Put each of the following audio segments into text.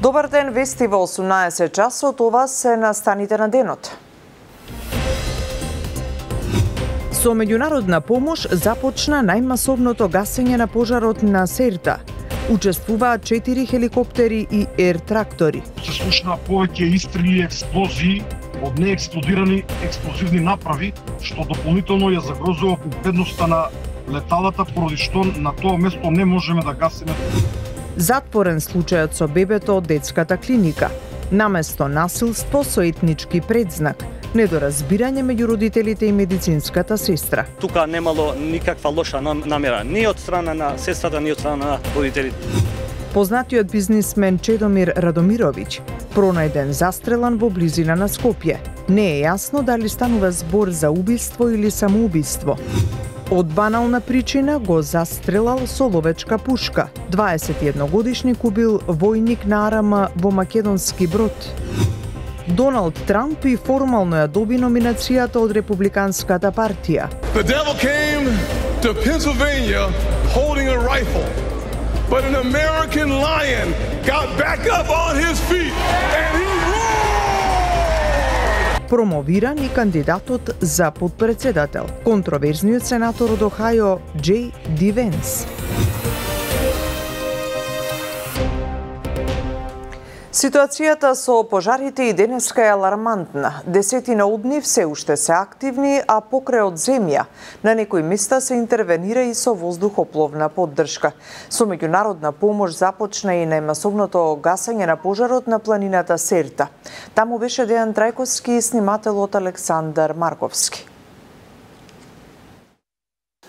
Добар ден, вести во 18 часот, ова се настаните на денот. Со меѓународна помош започна најмасовното гасење на пожарот на Серта. Учествуваат 4 хеликоптери и ер-трактори. Се слушна повеќе истрели и експлозии од неексплодирани експлозивни направи, што дополнително ја загрозува безбедноста на леталата, поради што на тоа место не можеме да гасиме. Затворен случајот со бебето од детската клиника. Наместо насилство со етнички предзнак. Недоразбирање меѓу родителите и медицинската сестра. Тука немало никаква лоша намера, ни од страна на сестрата, ни од страна на родителите. Познатиот бизнисмен Чедомир Радомировиќ пронајден застрелан во близина на Скопје. Не е јасно дали станува збор за убиство или самоубиство. Од банална причина го застрелал со ловечка пушка. 21-годишник убил војник на АРМ во македонски брод. Доналд Трамп и формално ја доби номинацијата од Републиканската партија. The devil came to Pennsylvania holding a rifle, but an American lion got back up on his feet and he roared! Промовиран и кандидатот за подпредседател, контроверзниот сенатор од Охајо J. D. Vance. Ситуацијата со пожарите и денеска е алармантна. Десетина од нив се уште се активни, а покрај од земја на некои места се интервенира и со воздухопловна поддршка. Со меѓународна помош започна и најмасовното гасење на пожарот на планината Серта. Таму беше Дејан Трајковски и снимателот Александар Марковски.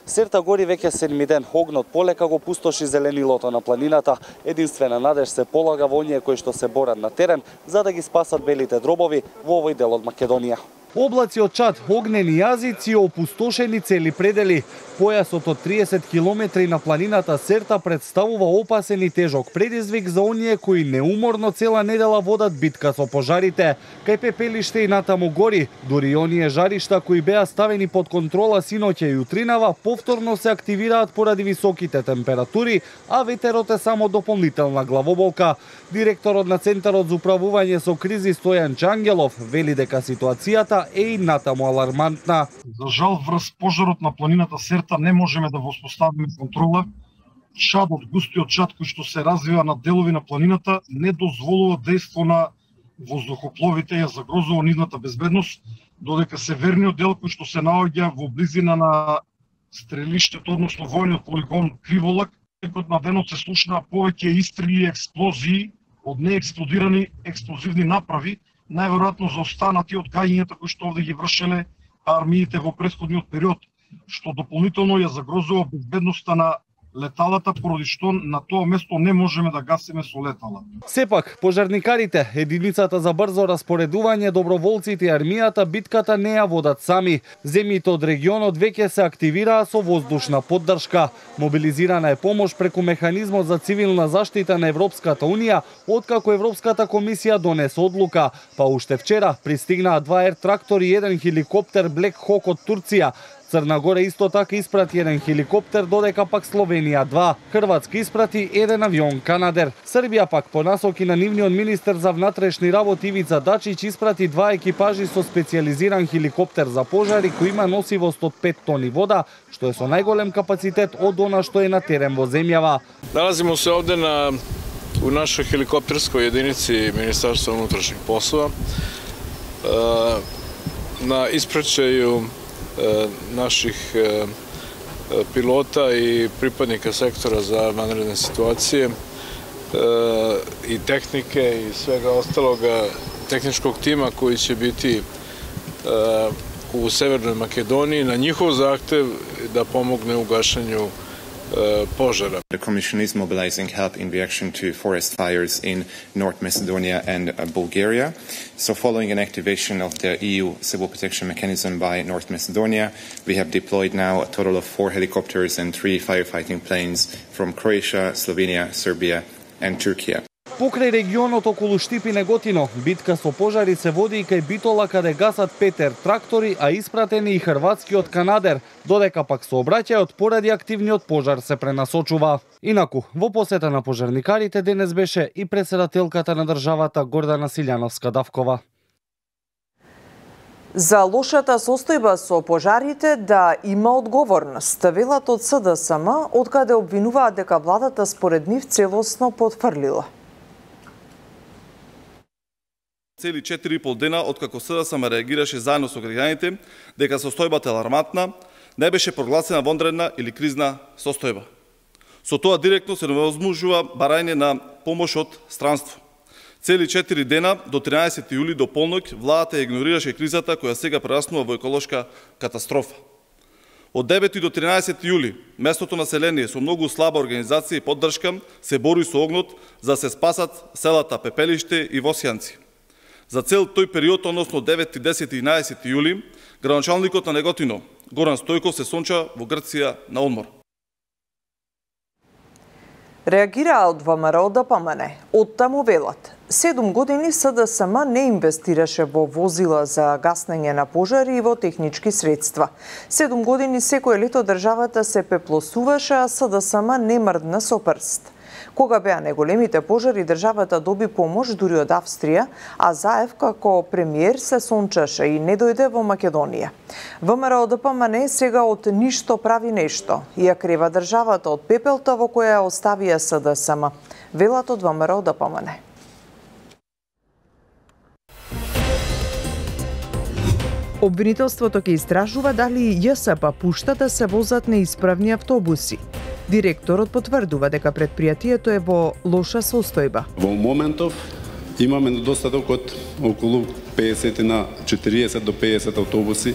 Серта гори веќе 7 ден, огнот полека го пустоши зеленилото на планината. Единствена надеж се полага во оние кои што се борат на терен за да ги спасат белите дробови во овој дел од Македонија. Облаци од чад, огнени јазици и опустошени цели предели. Појасот од 30 километри на планината Серта представува опасен и тежок предизвик за оние кои неуморно цела недела водат битка со пожарите. Кај пепелиште и натаму гори, дури и оние жаришта кои беа ставени под контрола синоќа и утринава, повторно се активираат поради високите температури, а ветерот е само дополнителна главоболка. Директорот на Центарот за управување со кризи Стојан Чангелов вели дека ситуацијата е и натаму алармантна. За жал, врз пожарот на планината Серта не можеме да воспоставиме контрола. Чадот, густиот чад кој што се развива на делови на планината не дозволува дејство на воздухопловите, ја загрозува нивната безбедност, додека северниот дел кој што се наоѓа во близина на стрелиштето, односно војниот полигон Криволак, текот на денот се слушна повеќе истрели и експлозии од неексплодирани експлозивни направи, најверојатно за останати од гаѓањата кои што овде ги вршеле армиите во претходниот период, што дополнително ја загрозува безбедноста на леталата, поради што на тоа место не можеме да гасиме со летала. Сепак, пожарникарите, единицата за брзо распоредување, доброволците и армијата битката не ја водат сами. Земјите од регионот веќе се активираа со воздушна поддршка. Мобилизирана е помош преку механизмот за цивилна заштита на Европската унија, откако Европската комисија донесе одлука. Па уште вчера пристигнаа 2 ер-трактори и 1 хеликоптер Black Hawk од Турција. Црна Гора исто така испрати 1 хеликоптер, додека пак Словенија 2. Хрватска испрати 1 авион Канадер. Србија пак по насоки на нивниот министер за внатрешни работи Ивица Дачиć испрати 2 екипажи со специјализиран хеликоптер за пожари кој има носивост од 5 тони вода, што е со најголем капацитет од она што е на терен во земјава. Nalazimo se ovde u našoj helikopterskoj jedinici Ministarstva unutrašnjih poslova na ispraćaju naših pilota i pripadnika sektora za vanredne situacije i tehnike i svega ostaloga tehničkog tima koji će biti u Severnoj Makedoniji na njihov zahtev da pomogne u gašenju požara. The Commission is mobilizing help in reaction to forest fires in North Macedonia and Bulgaria. So following an activation of the EU civil protection mechanism by North Macedonia, we have deployed now a total of 4 helicopters and 3 firefighting planes from Croatia, Slovenia, Serbia and Turkey. Покрај регионот околу Штип и Неготино, битка со пожари се води и кај Битола каде гасат Петер трактори, а испратени и хрватскиот канадер, додека пак сообраќајот поради активниот пожар се пренасочува. Инаку, во посета на пожарникарите денес беше и претседателката на државата Гордана Силјановска-Давкова. За лошата состојба со пожарите да има одговорност, велат од СДСМ, откаде обвинуваат дека владата според нив целосно потфрлила. Цели 4,5 дена откако СДСМ реагираше заедно со граѓаните дека состојбата е алармантна, не беше прогласена вонредна или кризна состојба. Со тоа директно се невозможува барање на помош од странство. Цели 4 дена до 13 јули до полноќ владата игнорираше кризата која сега прераснува во еколошка катастрофа. Од 9 до 13 јули местното население со многу слаба организација и поддршка се бори со огнот за да се спасат селата Пепелиште и Восјанци. За цел тој период, односно 9, 10 и 11 јули, градоначалникот на Неготино, Горан Стојков, се сонча во Грција на одмор. Реагираа од ВМРО ДПМН. Оттаму велат. 7 години СДСМ не инвестираше во возила за гаснење на пожари и во технички средства. 7 години секој лето државата се пеплосуваше, а СДСМ не мрдна со прст. Кога беа неголемите пожари, државата доби помош дури од Австрија, а Заев како премиер се сончаше и не дојде во Македонија. ВМРО ДПМН сега од ништо прави нешто и ја крива државата од пепелта во која ја оставија СДСМ. Велат од ВМРО ДПМН. Обвинителството ќе истражува дали ЈСП пушта да се возат неисправни автобуси. Директорот потврдува дека предпријатието е во лоша состојба. Во моментов имаме недостаток од околу 50 на 40 до 50 автобуси.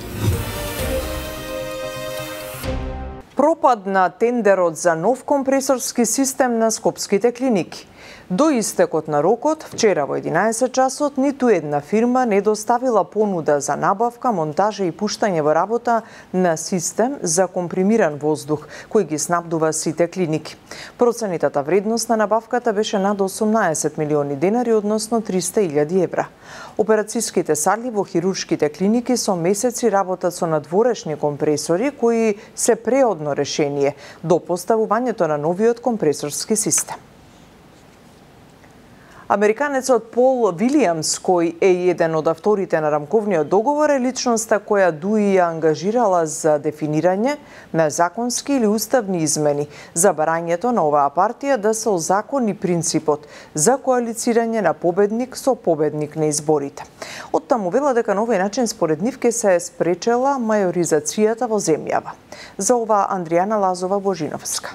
Пропад на тендерот за нов компресорски систем на скопските клиники. До истекот на рокот, вчера во 11 часот, ниту една фирма не доставила понуда за набавка, монтажа и пуштање во работа на систем за компримиран воздух, кој ги снабдува сите клиники. Проценитата вредност на набавката беше над 18 милиони денари, односно 300.000 евра. Операцијските сали во хируршките клиники со месеци работат со надворешни компресори, кои се преодно решение до поставувањето на новиот компресорски систем. Американецот Пол Вилијамс, кој е еден од авторите на рамковниот договор, е личноста која ДУИ ја ангажирала за дефинирање на законски или уставни измени за барањето на оваа партија да се озакони принципот за коалицирање на победник со победник на изборите. Оттаму вела дека на овој начин според нив ќе се спречела мајоризацијата во земјава. За ова Андријана Лазова-Божиновска.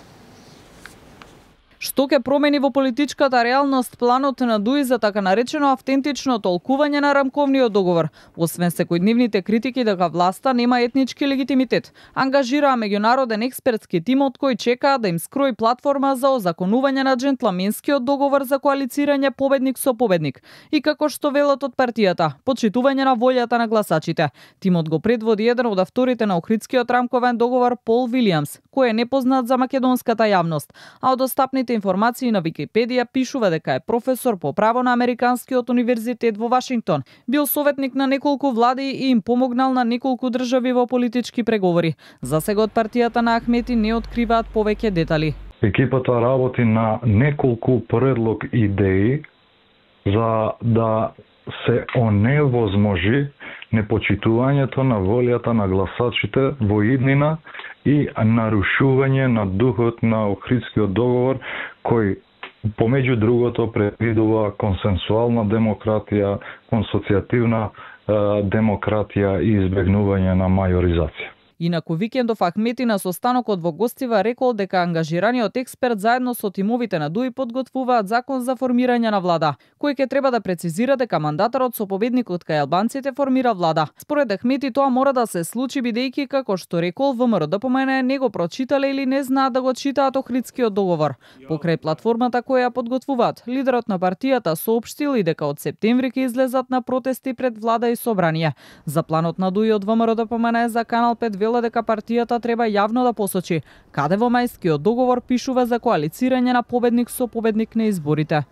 Што ќе промени во политичката реалност планот на ДУИ за така наречено автентично толкување на рамковниот договор, освен секојдневните критики дека власта нема етнички легитимитет, ангажираа меѓународен експертски тим од кој чекаа да им скрои платформа за озаконување на џентламенскиот договор за коалицирање победник со победник и како што велат од партијата, почитување на волјата на гласачите. Тимот го предводи еден од авторите на Охридскиот рамковен договор Пол Вилијамс, кој е непознат за македонската јавност, а од достапните информации на Википедија пишува дека е професор по право на Американскиот универзитет во Вашингтон, бил советник на неколку влади и им помогнал на неколку држави во политички преговори. За сега од партијата на Ахмети не откриваат повеќе детали. Екипата работи на неколку предлог идеи за да се оневозможи непочитувањето на волјата на гласачите во иднина и нарушување на духот на Охридскиот договор, кој помеѓу другото предвидува консенсуална демократија, консоцијативна демократија и избегнување на мајоризација. Инаку викендов Ахмети на состанокот во Гостива рекол дека ангажираниот експерт заедно со тимовите на ДУИ подготвуваат закон за формирање на влада, кој ќе треба да прецизира дека мандатарот со победникот кај албанците формира влада. Според Ахмети тоа мора да се случи бидејќи како што рекол ВМРО ДПМН не го прочитале или не знаат да го читаат Охридскиот договор. Покрај платформата која ја подготвуваат, лидерот на партијата соопштил и дека од септември ќе излезат на протести пред влада и собрание. За планот на ДУИ од ВМРО ДПМН за Канал 5 вела дека партијата треба јавно да посочи каде во мајскиот договор пишува за коалицирање на победник со победник на изборите.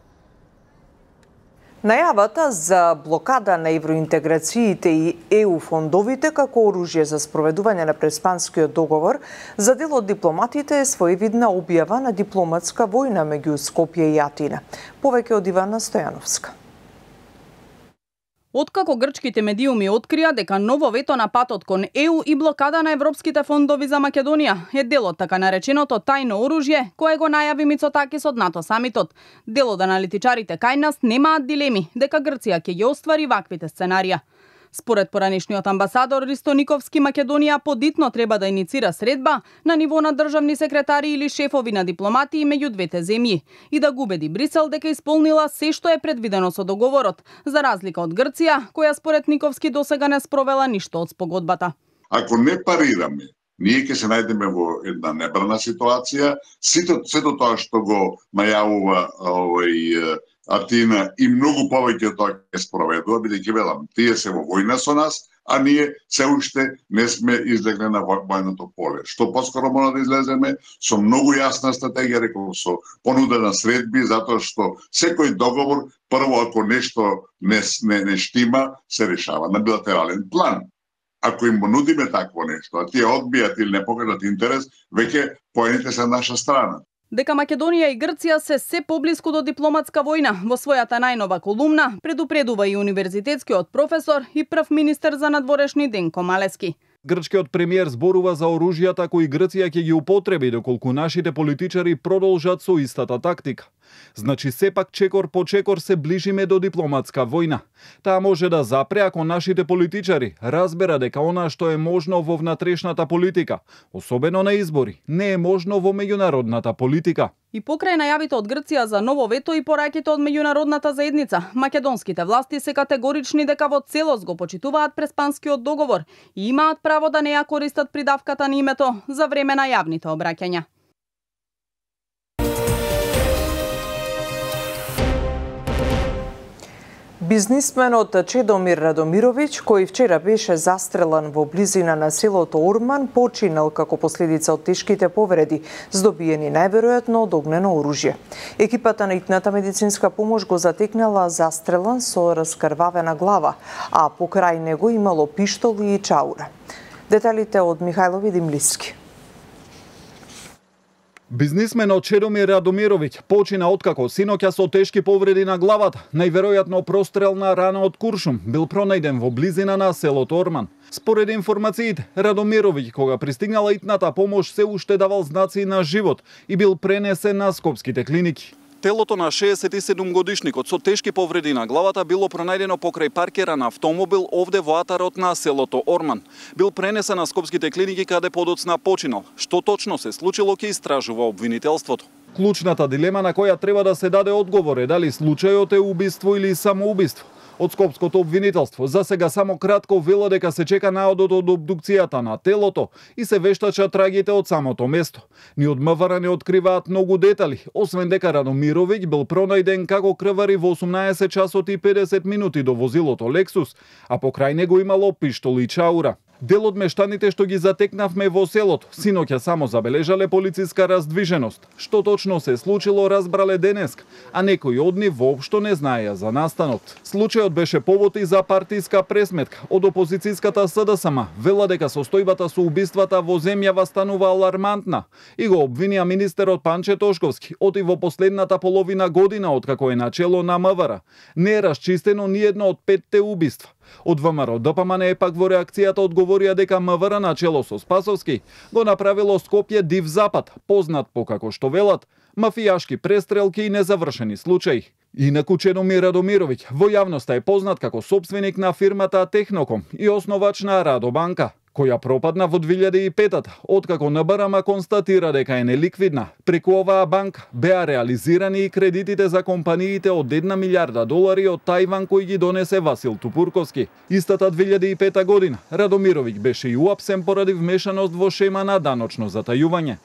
Најавата за блокада на евроинтеграциите и ЕУ фондовите како оружје за спроведување на Преспанскиот договор за дел од дипломатите е своевидна објава на дипломатска војна меѓу Скопје и Атина. Повеќе од Ивана Стојановска. Откако грчките медиуми открија дека ново вето на патот кон ЕУ и блокада на европските фондови за Македонија е дел од така нареченото тајно оружје, кое го најави Мицотакис од НАТО самитот. Дел од аналитичарите кај нас немаат дилеми дека Грција ќе ги оствари ваквите сценарија. Според поранешниот амбасадор Ристо Никовски, Македонија подитно треба да иницира средба на ниво на државни секретари или шефови на дипломатии меѓу двете земји и да го убеди Брисел дека исполнила се што е предвидено со договорот, за разлика од Грција, која според Никовски досега не спровела ништо од спогодбата. Ако не парираме, ние ќе се најдеме во една небрана ситуација. Сето тоа што го најавува Атина и многу повеќе од тоа ќе спроведува, бидејќи велам, тие се во војна со нас, а ние се уште не сме излегли на војното поле. Што поскоро мора да излеземе со многу јасна стратегија, рекол, со понуда на средби, затоа што секој договор, прво ако нешто не штима, се решава на билатерален план. Ако им нудиме такво нешто, а тие одбијат или не покажат интерес, веќе поените се на наша страна. Дека Македонија и Грција се поблиску до дипломатска војна, во својата најнова колумна предупредува и универзитетскиот професор и прв министер за надворешни Денко Малески. Грчкиот премиер зборува за оружјата кои Грција ќе ги употреби доколку нашите политичари продолжат со истата тактика. Значи сепак чекор по чекор се ближиме до дипломатска војна. Таа може да запре ако нашите политичари разбера дека она што е можно во внатрешната политика, особено на избори, не е можно во меѓународната политика. И покрај најавите од Грција за ново вето и пораките од меѓународната заедница, македонските власти се категорични дека во целост го почитуваат Преспанскиот договор и имаат право да не ја користат придавката на името за време на јавните обраќања. Бизнисменот Чедомир Радомировиќ, кој вчера беше застрелан во близина на селото Орман, починал како последица од тешките повреди, здобиени најверојатно од огнено оружје. Екипата на итната медицинска помош го затекнала застрелан со раскрвавена глава, а покрај него имало пиштоли и чаура. Деталите од Михајло Видимлиски. Бизнисменот Чедомир Радомировиќ почина откако синоќа со тешки повреди на главата, најверојатно прострелна рана од куршум, бил пронајден во близина на селото Орман. Според информациите, Радомировиќ, кога пристигнала итната помош, се уште давал знаци на живот и бил пренесен на скопските клиники. Телото на 67-годишникот со тешки повреди на главата било пронајдено покрај паркера на автомобил овде во атарот на селото Орман. Бил пренесен на скопските клиники каде подоцна починал. Што точно се случило ќе истражува обвинителството. Клучната дилема на која треба да се даде одговор е дали случајот е убиство или самоубиство. Од скопското обвинителство за сега само кратко вела дека се чека наодот од обдукцијата на телото и се вештачат трагите од самото место. Ни од МВР не откриваат многу детали, освен дека Радомировиќ бил пронајден како крвари во 18 часот и 50 минути до возилото Лексус, а покрај него имало пиштол и чаура. Дел од мештаните што ги затекнавме во селото, синоќа само забележале полициска раздвиженост. Што точно се случило разбрале денеска, а некои од нив воопшто не знаеја за настанот. Случајот беше повод и за партиска пресметка од опозицијската СДСМ. Вела дека состојбата со убиствата во земјава станува алармантна и го обвинија министерот Панче Тошковски оти во последната половина година откако е начело на МВР. Не е расчистено ни едно од 5 убиства. Од ВМРО ДПМН пак во реакцијата одговорија дека МВР начело со Спасовски го направило Скопје див запад, познат по, како што велат, мафијашки престрелки и незавршени случаи. Инаку Чедомир Радомировиќ во јавноста е познат како сопственик на фирмата Техноком и основач на Радобанка, која пропадна во 2005-та, откако НБРМ констатира дека е неликвидна. Преку оваа банка беа реализирани и кредитите за компаниите од $1 милиарда од Тајван кои ги донесе Васил Тупурковски. Истата 2005 година Радомировиќ беше и уапсен поради вмешаност во шема на даночно затајување.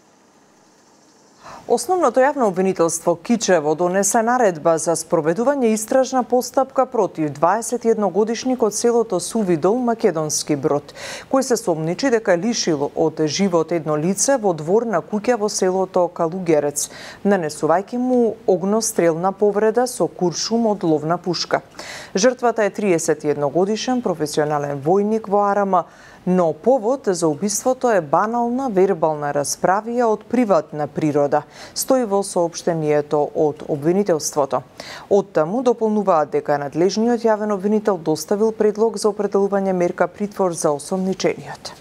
Основното јавно обвинителство Кичево донесе наредба за спроведување истражна постапка против 21-годишник од селото Сувидол, Македонски Брод, кој се сомничи дека лишил од живот едно лице во двор на куќа во селото Калугерец, нанесувајќи му огнострелна повреда со куршум од ловна пушка. Жртвата е 31-годишен професионален војник во Арама, но повод за убиството е банална вербална расправија од приватна природа, стои во соопштението од обвинителството. Оттаму дополнуваат дека надлежниот јавен обвинител доставил предлог за определување мерка притвор за осомничениот.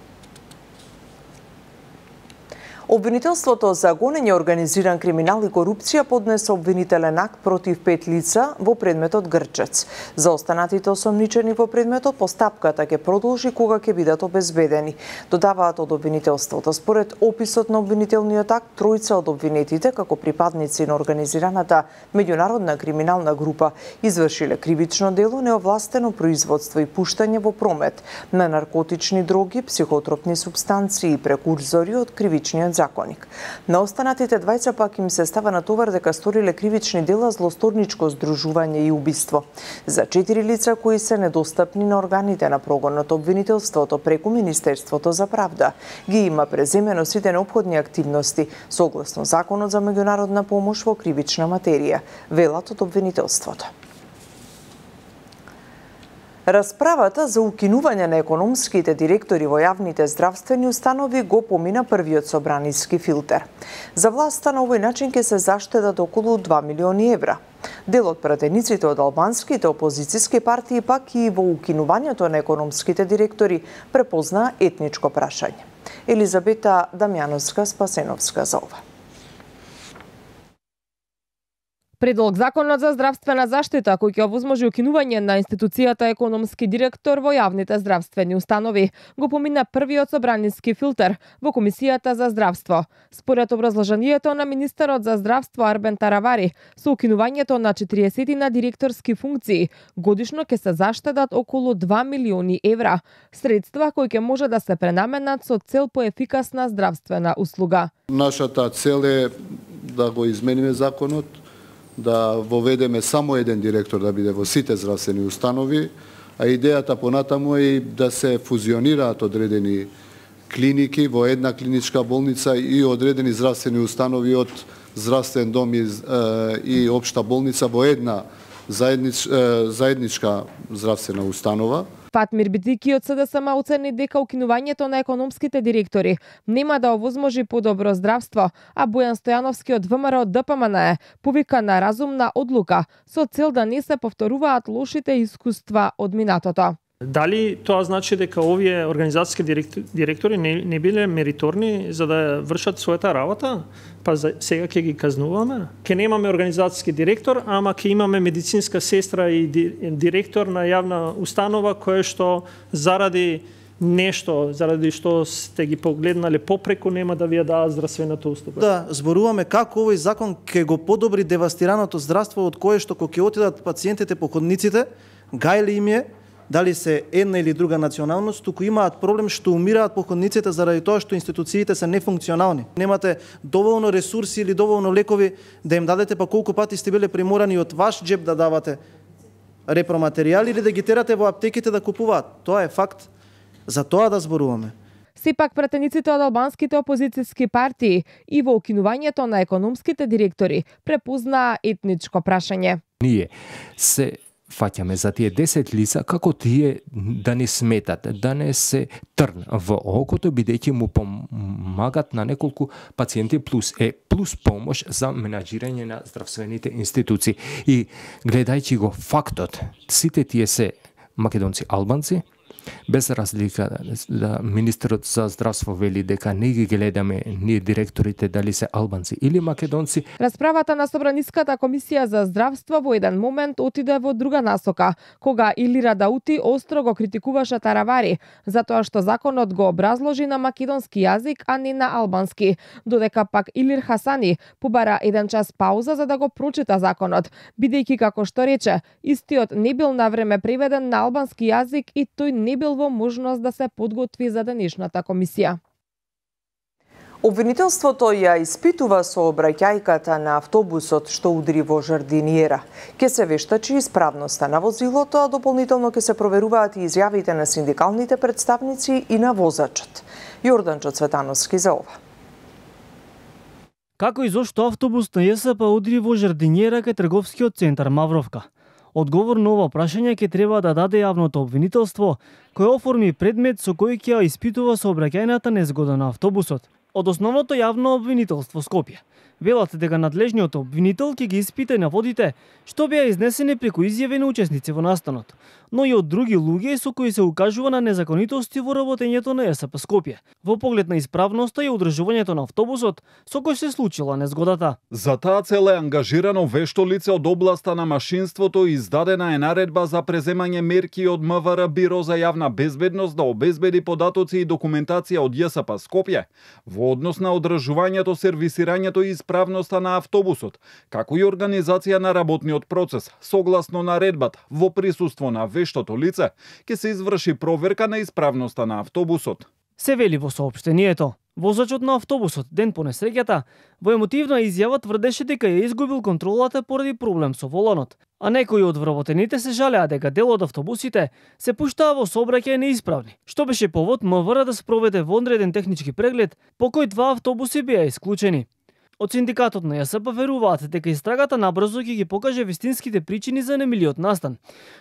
Обвинителството за гонење, организиран криминал и корупција поднесе обвинителен акт против 5 лица во предметот Грчец. За останатите осомничени во предметот постапката ќе продолжи кога ќе бидат обезбедени. Додаваат од обвинителството. Според описот на обвинителниот акт, тројца од обвинетите, како припадници на организираната меѓународна криминална група, извршиле кривично дело, неовластено производство и пуштање во промет на наркотични дроги, психотропни супстанции и прекурзори од кривичниот законник. На останатите двајца пак им се става на товар дека сториле кривични дела, злосторничко здружување и убиство. За 4 лица кои се недостапни на органите на прогонот, обвинителството преку Министерството за правда ги има преземено сите неопходни активности согласно Законот за меѓународна помош во кривична материја, велат од обвинителството. Расправата за укинување на економските директори во јавните здравствени установи го помина првиот собраниски филтер. За власта на овој начин ќе се заштедат околу 2 милиони евра. Дел од пратениците од албанските опозициски партии пак и во укинувањето на економските директори препозна етничко прашање. Елизабета Дамјановска-Спасеновска за ова. Предлог законот за здравствена заштита кој ќе овозможи укинување на институцијата економски директор во јавните здравствени установи го помина првиот собраниски филтер во Комисијата за здравство. Според образложението на министерот за здравство Арбен Таравари, со укинувањето на 40 на директорски функции годишно ќе се заштедат околу 2 милиони евра, средства кои ќе може да се пренаменат со цел поефикасна здравствена услуга. Нашата цел е да го измениме законот, да воведеме само еден директор да биде во сите здравствени установи, а идејата понатаму е да се фузионираат одредени клиники во една клиничка болница и одредени здравствени установи од здравствен дом и општа болница во една заедничка здравствена установа. Фатмир Битики од СДСМ оцени дека укинувањето на економските директори нема да овозможи подобро здравство, а Бојан Стојановски од ВМРО ДПМН повика на разумна одлука со цел да не се повторуваат лошите искуства од минатото. Дали тоа значи дека овие организацијски директори не биле мериторни за да вршат својата работа? Па сега ќе ги казнуваме? Ќе немаме организацијски директор, ама ќе имаме медицинска сестра и директор на јавна установа која што заради нешто, заради што сте ги погледнале попреку, нема да ви ја даат здравствената услуга. Да, зборуваме како овој закон ќе го подобри девастираното здравство од кое што кога ќе отидат пациентите по ходниците, гајли им е дали се една или друга националност, туку имаат проблем што умираат по ходниците заради тоа што институциите се нефункционални. Немате доволно ресурси или доволно лекови да им дадете, па колку пати сте биле приморани од ваш джеб да давате репроматеријали или да ги терате во аптеките да купуваат. Тоа е факт. За тоа да зборуваме. Сепак пратениците од албанските опозицијски партии и во укинувањето на економските директори препознаа етничко прашање. Ние се фаќаме за тие 10 лица како тие да не сметат, да не се трн во окото, бидејќи му помагат на неколку пациенти плюс помош за менаџирање на здравствените институции. И гледајќи го фактот, сите тие се македонци албанци, без разлика да министерот за здравство вели дека не ги гледаме ние директорите дали се албанци или македонци. Расправата на Собраниската комисија за здравство во еден момент отиде во друга насока, кога Илира Даути остро го критикуваше Таравари за тоа што законот го образложи на македонски јазик, а не на албански, додека пак Илир Хасани побара 1 час пауза за да го прочита законот, бидејќи како што рече, истиот не бил навреме преведен на албански јазик и тој не бил во можност да се подготви за денешната комисија. Обвинителството ја испитува сообраќајката на автобусот што удри во Жардиниера. Ке се вештачи исправноста на возилото, а дополнително ке се проверуваат и изјавите на синдикалните представници и на возачот. Јорданчо Цветановски за ова. Како и зошто автобус на ЈСП удри во Жардиниера кај трговскиот центар Мавровка? Одговор на ова прашање ќе треба да даде јавното обвинителство, кој оформи предмет со кој ќе ја испитува сообраќајната незгода на автобусот од основното јавно обвинителство Скопје. Велат дека надлежниот обвинител ќе ги испита и наводите што беа изнесени преку изјави на учесници во настанот, но и од други луѓе со кои се укажува на незаконитости во работењето на ЈСП Скопје, во поглед на исправноста и одржувањето на автобусот со кој се случила незгодата. За таа цел е ангажирано вешто лице од областа на машинството и издадена е наредба за преземање мерки од МВР Биро за јавна безбедност да обезбеди податоци и документација од ЈСП Скопје во однос на одржувањето, сервисирањето и исправноста на автобусот, како и организација на работниот процес. Согласно наредбата, во присуство на вештото лице, ќе се изврши проверка на исправноста на автобусот. Се вели во соопштението. Возачот на автобусот ден по несреќата во емотивна изјава тврдеше дека ја изгубил контролата поради проблем со воланот, а некои од вработените се жалеа дека дел од автобусите се пуштаа во сообраќај неисправни, што беше повод МВР да спроведе вонреден технички преглед по кој 2 автобуси беа исклучени. Од синдикатот на ЈСП веруваат дека истрагата набрзо ќе ги покаже вистинските причини за немилиот настан,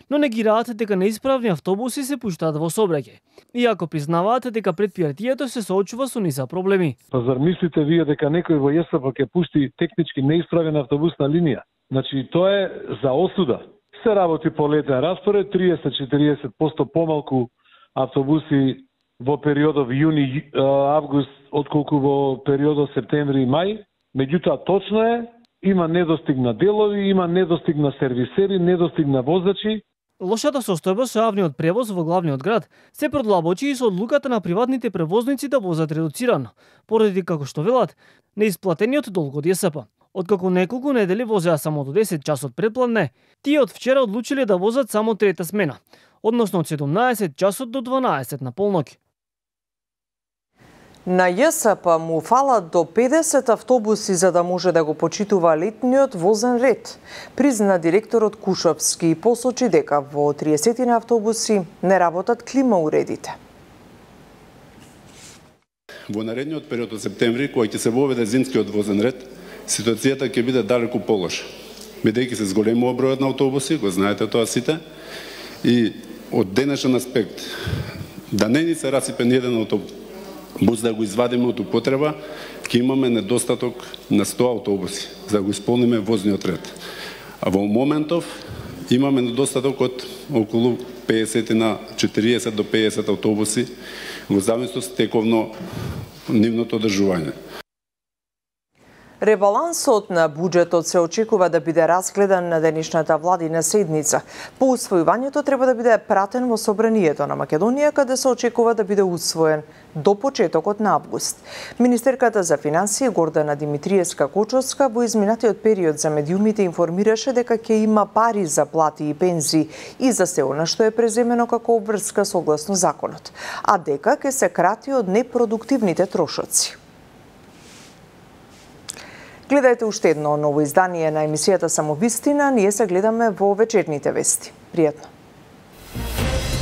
но негираат дека неисправни автобуси се пуштаат во сообраќај, иако признаваат дека претпријатието се соочува со низа проблеми. Па зар мислите вие дека некој во ЈСП ќе пусти технички неисправена автобусна линија? Значи тоа е за осуда. Се работи по летен распоред, 30-40% помалку автобуси во периодов јуни-август отколку во периодот септември и мај. Меѓутоа, точно е, има недостиг на делови, има недостиг на сервисери, недостиг на возачи. Лошата состојба со јавниот превоз во главниот град се продлабочи и со одлуката на приватните превозници да возат редуцирано, поради како што велат, неисплатениот долг од ЈСП. Откако неколку недели возеа само до 10 часот предпладне, тие од вчера одлучиле да возат само трета смена, односно од 17 часот до 12 на полноќ. На ЈСП му фалат до 50 автобуси за да може да го почитува летниот возен ред, призна директорот Кушовски и посочи дека во 30 на автобуси не работат клима уредите. Во наредниот период од септември, кој ќе се воведе зимскиот возен ред, ситуацијата ќе биде далеку полоша. Бидејќи се зголемува бројот на автобуси, го знаете тоа сите, и од денешен аспект, да не ни се расипе ниеден автобус да го извадиме од употреба, ќе имаме недостаток на 100 автобуси за да го исполниме возниот ред. А во моментов имаме недостаток од околу 50 на 40 до 50 автобуси во зависност тековно нивното одржување. Ребалансот на буџетот се очекува да биде разгледан на денешната владина седница. По усвојувањето треба да биде пратен во Собранието на Македонија, каде се очекува да биде усвоен до почетокот на август. Министерката за финансии Гордана Димитриевска-Кочовска во изминатиот период за медиумите информираше дека ќе има пари за плати и пензии и за се она што е преземено како обврска согласно законот, а дека ќе се крати од непродуктивните трошоци. Гледајте уште едно ново издание на емисијата Самовистина, ние се гледаме во вечерните вести. Пријатно!